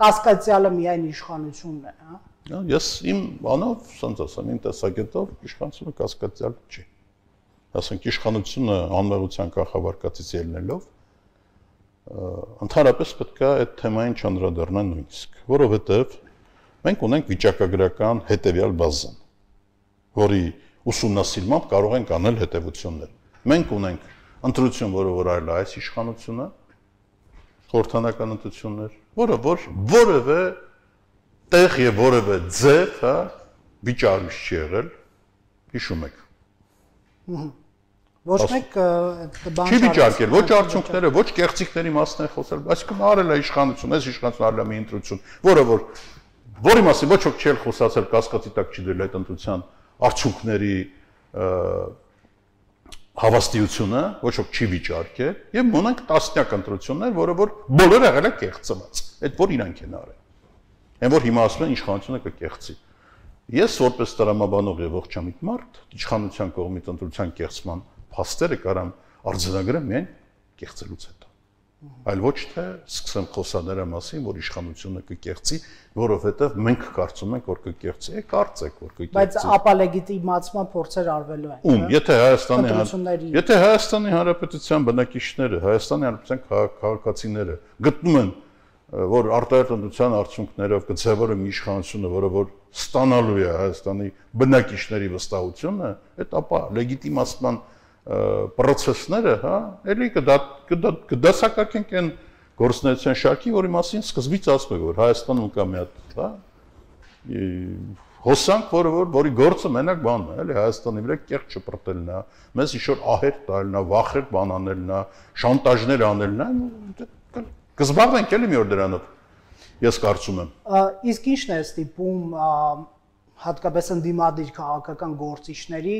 կասկածյալը միայն իշխանությունն է, հա։ Ես իմ բանով, ասած ասեմ, իմ տեսակետով իշխանությունը կասկածյալ չի։ Ասենք իշխանությունը անմեղության կախավարկածից ելնելով ընդհանրապես պետք է այդ թեմային չանդրադառնալ նույնիսկ, որովհետև մենք ունենք վիճակագրական հետևյալ բազան, որի ուսումնասիրմամբ կարող ենք անել հետևություններ։ Մենք ունենք ընտրություն, որը որ այլ այս իշխանությունը, խորհրդանական ընտրություններ, որը որ որևէ տեղ եւ որևէ ձև, հա, վիճարույց չի եղել, հիշում եք։ Ոչ մեկ բան չի վիճարկել, ոչ արդյունքները, ոչ կեղծիքների մասն է խոսել, այսինքն արել է իշխանություն, այս իշխանությունը արել է մի ընտրություն, որը որ որի մասին ոչ ոք չի խոսացել, կասկածի տակ չի դրել այդ ընտրության արդյունքների հավաստիությունը, ոչ ոք չի վիճարկել, եւ ունենք տասնյակ ընտրություններ, որը որ բոլորը եղել է կեղծված, այդ որ իրանք են արել։ Այն որ հիմա ասում են իշխանությունը կկեղծի։ Ես որպես տրամաբանող եւ ողջամիտ մարդ, իշխանության կողմից ընտրության կեղծման փաստերը կարամ արձանագրեմ միայն կեղծելուց հետո։ Այլ ոչ թե սկսեմ խոսալ նրա մասին, որ իշխանությունը կկեղծի, որովհետև մենք կարծում ենք, որ կկեղծի, է կարծեք, որ կկեղծի։ Բայց ապա լեգիտիմացման փորձեր արվելու են։ Ում, եթե Հայաստանի Եթե Հայաստանի Հանրապետության բնակիչները, Հայաստանի Հանրապետության քաղաքացիները գտնում են, որ արտահերթ ընտրության արդյունքներով կձևորեն մի իշխանությունը, որը որ ստանալու է Հայաստանի բնակիչների վստահությունը, այդ ապա լեգիտիմացման պրոցեսները, հա, էլի կդասակարգենք այն գործունեության շարքի, որի մասին սկզբից ասում եք, որ Հայաստանում կա մի հատ, հա, հոսանք, որը որ որի գործը մենակ բանն է, էլի Հայաստանի վրա կեղծ չպրտելն է, մեզ ինչ-որ ահեր տալն է, վախեր բան անելն է, շանտաժներ անելն է, կզբաղվենք էլի մի օր դրանով։ Ես կարծում եմ։ Իսկ ի՞նչն է ստիպում հատկապես ընդդիմադիր քաղաքական գործիչների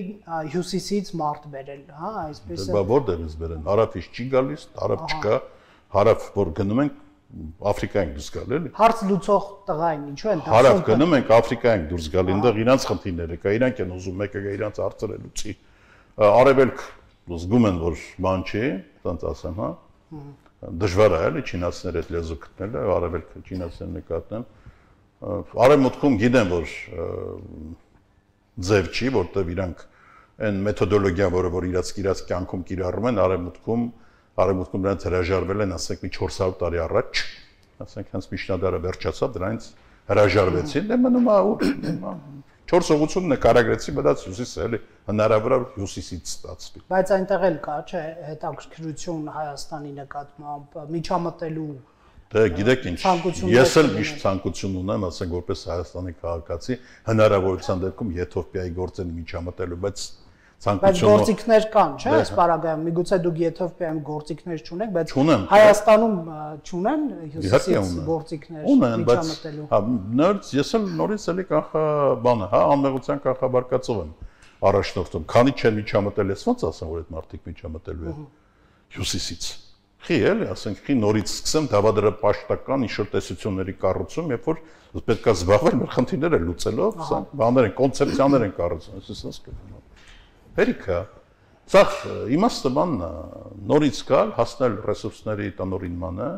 հյուսիսից մարդ բերել, հա, այսպես է։ Բա որտեղից բերեն, հարավից չի գալիս, հարավ չկա, հարավ որ գնում ենք Աֆրիկա ենք դուրս գալ, էլի։ Հարց լուծող տղային ինչու են դասում։ Հարավ գնում ենք Աֆրիկա ենք դուրս գալ, այնտեղ իրանց խնդիրները կա, իրանք են ուզում մեկը գա իրանց հարցերը լուծի։ Արևելք զգում են որ բան չի, ասած ասեմ, հա։ Դժվար է էլի չինացիներ այդ լեզու գտնելը, արևելքը չինացիներ նկատեն։ Արևմուտքում գիտեն որ ձև չի, որտեղ իրանք այն մեթոդոլոգիա, որը որ իրաց իրաց կյանքում կիրառում են, արևմուտքում Արևմուտքում նրանց հրաժարվել են, ասենք մի չորս հարյուր տարի առաջ, ասենք հենց միջնադարը վերջացավ, դրանից հրաժարվեցին, դե մնում է ուր չորս ուղղություն նկարագրեցի, բայց հյուսիսը էլի հնարավոր է հյուսիսից ստացվի։ Բայց այնտեղ էլ կա, չէ, հետաքրքրություն Հայաստանի նկատմամբ միջամտելու։ Դե գիտեք ինչ, ես էլ միշտ ցանկություն ունեմ, ասենք որպես Հայաստանի քաղաքացի, հնարավորության դեպքում Եթովպիայի գործին միջամտելու, բայց Բայց գործիքներ կան, չէ՞, այս պարագայում, միգուցե դուք Եթովպիայում գործիքներ չունեք, բայց Հայաստանում չունեն հյուսիսից գործիքներ միջամտելու։ Հա, նորից ես էլ նորից էլի կանխա բանը, հա, անմեղության կանխաբարկացով եմ առաջնորդում։ Քանի չեն միջամտել, ես ոնց ասեմ, որ այդ մարդիկ միջամտելու են հյուսիսից։ Խի էլի, ասենք, խի նորից սկսեմ դավադրապաշտական ինչ-որ տեսությունների կառուցում, երբ որ պետք է զբաղվել մեր խնդիրները լուծելով, սա բաներ են, կոնցեպցիաներ են կառուցում, այսպես ասեմ։ Հերիքա, սա իմաստը բանն է, նորից գալ, հասնել ռեսուրսների տնօրինմանը,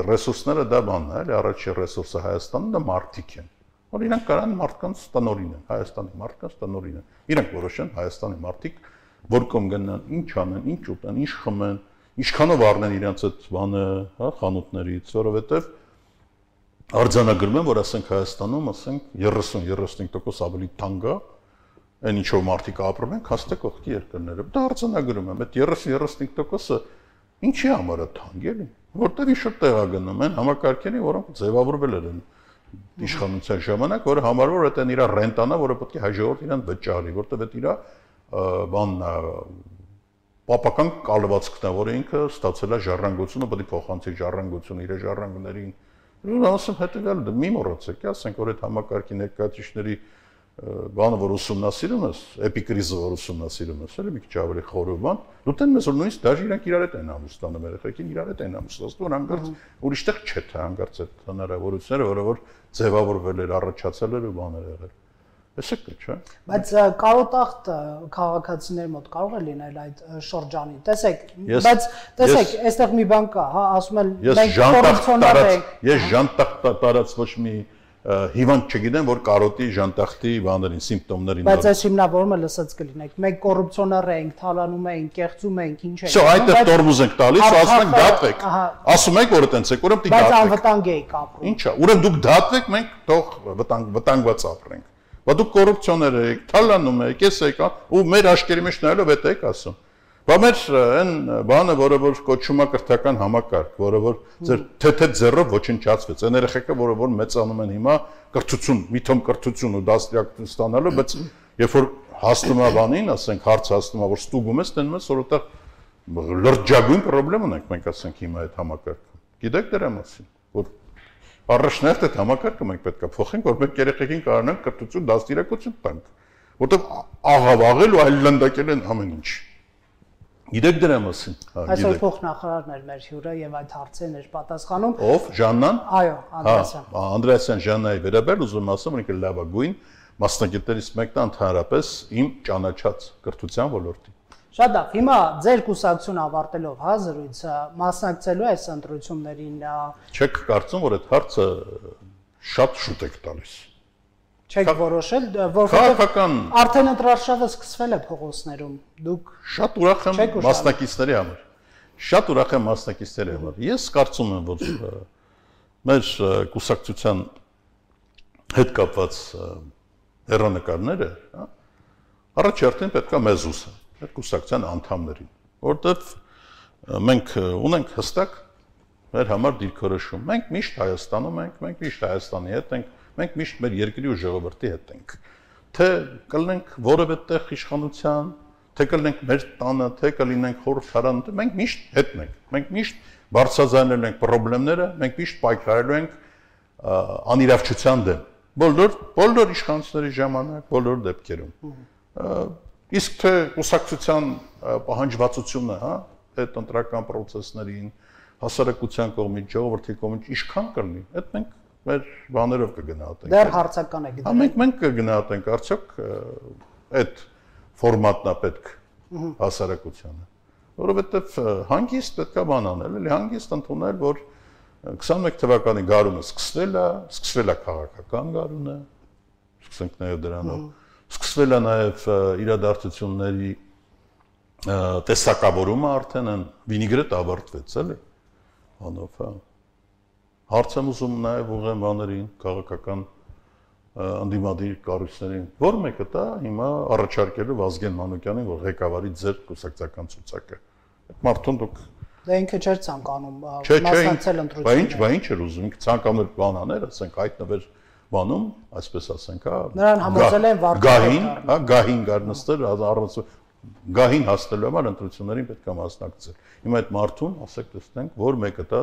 ռեսուրսները դա բանն է, էլի առաջի ռեսուրսը Հայաստանը դա մարդիկ են, որ իրանք կարան մարդկանց տնօրին են, Հայաստանի մարդկանց տնօրին են, իրանք որոշեն Հայաստանի մարդիկ, որ կողմ գնան, ինչ անեն, ինչ ուտեն, ինչ խմեն, ինչքանով առնեն իրանց այդ բանը, հա, խանութներից, որովհետև արձանագրում են, որ ասենք Հայաստանում, ասենք երեսուն երեսունհինգ տոկոս ավելի թանկ է Այն ինչով մարդիկ ապրում են, հաստե կողքի երկրները։ Դա արձանագրում եմ, այդ երեսուն երեսունհինգ տոկոսը ինչի համար է թանկ էլի, որտեղ ինչ-որ տեղ է գնում են համակարգերի, որոնք ձևավորվել են իշխանության ժամանակ, որը համարվում է այդ իր ռենտանա, որը պետք է հայ ժողովուրդը իրան վճարի, որտեղ այդ իր բանն է պապական կալվածքն է, որը ինքը ստացել է ժառանգությունը, պետք է փոխանցի ժառանգությունը իր ժառանգներին։ Ու ասում հետեւյալ մի մոռացեք, ասենք որ այդ համակարգի ներկայացուցիչների բանը որ ուսումնասիրում ես, էպիկրիզը որ ուսումնասիրում ես, էլի մի քիչ ավելի խորը բան, դուտեն մեզ որ նույնիսկ դաժե իրանք իրար հետ են ամուսնանում, երեխեքին իրար հետ են ամուսնացնում, որ հանգարց ուրիշտեղ չէ թե հանգարց այդ հնարավորությունները, որը որ ձևավորվել էր, առաջացել էր ու բաներ եղել։ Էսը կա, չէ՞։ Բայց կարոտախտ քաղաքացիների մոտ կարող է լինել այդ շրջանի։ Տեսեք, բայց տեսեք, այստեղ մի բան կա, հա, ասում են մենք կոռուպցիոներ ենք։ Ես ժանտախտ տարած ոչ մի հիվանդ չգիտեմ, որ կարոտի ժանտախտի բաներին, սիմպտոմներին։ Բայց այս հիմնավորումը լսած կլինեք։ Մենք կոռուպցիոներ ենք, թալանում ենք, կեղծում ենք, ինչ ենք։ Շո, այդտեղ տորմուզ ենք տալիս, ու ասում ենք դատվեք։ Ասում եք, որ այտենց եք, ուրեմն դի դատվեք։ Բայց անվտանգ եք ապրում։ Ինչա, ուրեմն դուք դատվեք, մենք թող վտանգ վտանգված ապրենք։ Բա դուք կոռուպցիոներ եք, թալանում եք, ես եք, ու մեր աշկերի մեջ նայելով էդ եք ասում։ Բա մեր այն բանը, որը որ կոչվում է կրթական համակարգ, որը որ ձեր թեթե ձեռով ոչնչացվեց, այն երեխեքը, որը որ մեծանում են հիմա կրթություն, միթոմ կրթություն ու դաստիարակ ստանալու, բայց երբ որ հասնում է բանին, ասենք հարց հասնում է, որ ստուգում ես, տենում ես, որ որտեղ լրջագույն խնդրեմ ունենք, մենք ասենք հիմա այդ համակարգը։ Գիտեք դրա մասին, որ առաջնահերթ այդ համակարգը մենք պետք է փոխենք, որ մենք երեխեքին կարողանանք կրթություն, դաստիարակություն տանք, որտեղ աղավաղել ու այլանդակել են ամեն ինչ։ Գիտեք դրա մասին։ Այսօր փոխնախարարն էր մեր հյուրը եւ այդ հարցերն էր պատասխանում։ Ով, Ժաննան։ Այո, Անդրեասյան։ Հա, Անդրեասյան Ժաննայի վերաբերյալ ուզում ասեմ, ինքը լավագույն մասնագետներից մեկն է ընդհանրապես իմ ճանաչած կրթության ոլորտի։ Շատ լավ։ Հիմա ձեր կուսակցությունը ավարտելով հա զրույցը մասնակցելու այս ընտրություններին։ Չեք կարծում, որ այդ հարցը շատ շուտ եք տալիս։ Չեք որոշել, որովհետև արդեն ընտրարշավը սկսվել է փողոցներում։ Դուք շատ ուրախ եմ մասնակիցների համար։ Շատ ուրախ եմ մասնակիցների համար։ Ես կարծում եմ, որ մեր կուսակցության հետ կապված հեռանկարները, հա, առաջերտին պետք է մեզ ուսան, այդ կուսակցության անդամներին, որտեղ մենք ունենք հստակ մեր համար դիրքորոշում։ Մենք միշտ Հայաստանում ենք, մենք միշտ Հայաստանի հետ ենք, Մենք միշտ մեր երկրի ու ժողովրդի հետ ենք։ Թե կլինենք որևէ տեղ իշխանության, թե կլինենք մեր տանը, թե կլինենք խորհրդարան, մենք միշտ հետն ենք։ Մենք միշտ բարձրաձայնել ենք խնդիրները, մենք միշտ պայքարելու ենք անիրավչության դեմ։ Բոլոր բոլոր իշխանությունների ժամանակ, բոլոր դեպքերում։ Իսկ թե կուսակցության պահանջվածությունը, հա, այդ ընտրական process-ներին, հասարակության կողմից, ժողովրդի կողմից ինչքան կլինի, այդ մենք մեր բաներով կգնահատենք։ Դեռ հարցական է գիտեմ։ Հա մենք մենք կգնահատենք արդյոք այդ ֆորմատն է պետք հասարակությանը, որովհետև հանգիստ պետք է բան անել, էլի հանգիստ ընդունել, որ քսանմեկ թվականի գարունը սկսվել է, սկսվել է քաղաքական գարունը, սկսենք նաև դրանով, սկսվել է նաև իրադարձությունների տեսակավորումը արդեն են վինիգրետ ավարտվեց, էլի, բանով, հա։ Հարց եմ ուզում նաև ուղղեմ բաներին, քաղաքական ընդդիմադիր կառույցներին, որ մեկը դա հիմա առաջարկելու Վազգեն Մանուկյանին, որ ղեկավարի ձեր կուսակցական ցուցակը։ Այդ մարդուն դուք Դա ինքը չէր ցանկանում մասնակցել ընտրություններին։ Բա ինչ, բա ինչ էր ուզում, ինքը ցանկանում էր բան անել, ասենք հայտնվեր բանում, այսպես ասենք, հա։ Նրան համոզել են վարկային, հա, գահին գար նստել, առանց գահին հասնելու համար ընտրություններին պետք է մասնակցել։ Հիմա այդ մարդուն, ասեք, տեսնենք, որ մեկը դա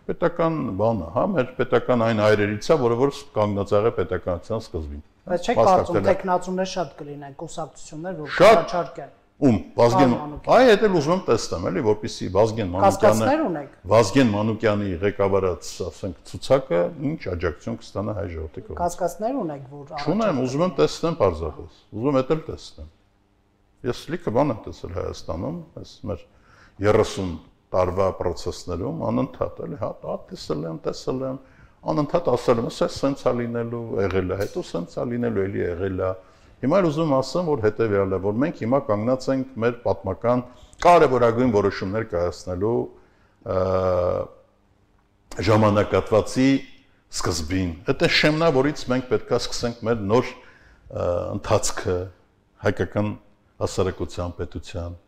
պետական բանը, հա, մեր պետական այն այրերից է, որը որ կանգնած եղել պետականության սկզբին։ Բայց չեք կարծում տեխնացուներ շատ կլինեն, կուսակցություններ, որ կառաջարկեն։ Ում Վազգեն, այ դա էլ ուզում եմ տեսնեմ, էլի, որպեսզի Վազգեն Մանուկյանը Վազգեն Մանուկյանի ղեկավարած, ասենք, ցուցակը ինչ աջակցություն կստանա հայ ժողովրդի կողմից։ Կասկածներ ունեք, որ Չունեմ, ուզում եմ տեսնեմ պարզապես։ Ուզում եմ էլ տեսնեմ։ Ես լիքը բան եմ տեսել Հայաստանում, այս մեր երեսուն տարվա process-ներում անընդհատ էլի, հա, դա տեսել եմ, տեսել եմ, անընդհատ ասել եմ, ասես սենց է լինելու, եղել է, հետո սենց է լինելու, էլի եղել է։ Հիմա էլ ուզում ասեմ, որ հետևյալը, որ մենք հիմա կանգնած ենք մեր պատմական կարևորագույն որոշումներ կայացնելու ժամանակատվածի սկզբին։ Դա շեմն է, որից մենք պետք է սկսենք մեր նոր ընթացքը հայկական հասարակության պետության։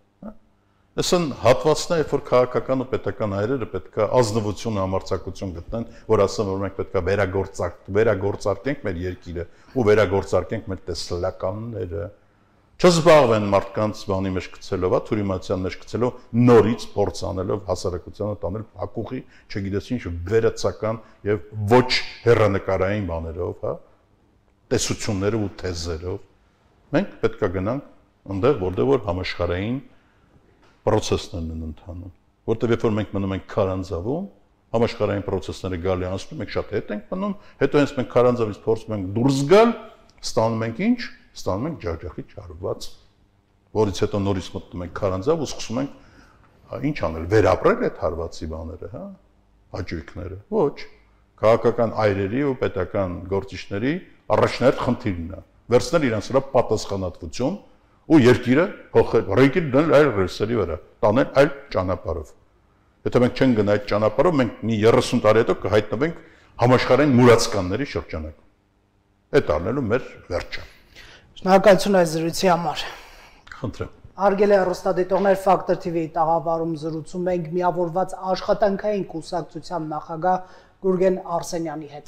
Այսն հատվածն է, որ քաղաքական ու պետական այրերը պետք է ազնվություն ու համարձակություն գտնեն, որ ասեն, որ մենք պետք է վերագործարկ, վերագործարկենք մեր երկիրը ու վերագործարկենք մեր տեսլականները։ Չզբաղվեն մարդկանց բանի մեջ գցելով, հա, թուրիմացիան մեջ գցելով, նորից փորձ անելով հասարակությանը տանել փակուղի, չգիտես ինչ վերացական եւ ոչ հեռանկարային բաներով, հա, տեսություններով ու թեզերով։ Մենք պետք է գնանք այնտեղ, որտեղ որ համաշխարհային process-ներն են ընթանում, որտեղ երբ որ մենք մնում ենք քարանձավում, համաշխարհային process-ները գալի անցնում, մենք շատ հետ ենք մնում, հետո հենց մենք քարանձավից փորձում ենք դուրս գալ, ստանում ենք ինչ, ստանում ենք ջախջախի չարված, որից հետո նորից մտնում ենք քարանձավ ու սկսում ենք ինչ անել, վերապրել այդ հարվածի բաները, հա, հաճույքները։ Ոչ, քաղաքական այրերի ու պետական գործիչների առաջնահերթ խնդիրն է, վերցնել իրենց վրա պատասխանատվություն ու երկիրը փոխել, ռեգիր դնել այլ ռեսերի վրա, տանել այլ ճանապարհով։ Եթե մենք չենք գնա այդ ճանապարհով, մենք մի երեսուն տարի հետո կհայտնվենք համաշխարհային մուրացկանների շրջանակում։ Այդ առնելու մեր վերջը։ Շնորհակալություն այս զրույցի համար։ Խնդրեմ։ Հարգելի հեռուստադիտողներ, Factor T V-ի տաղավարում զրուցում ենք միավորված աշխատանքային կուսակցության նախագահ Գուրգեն Արսենյանի հետ։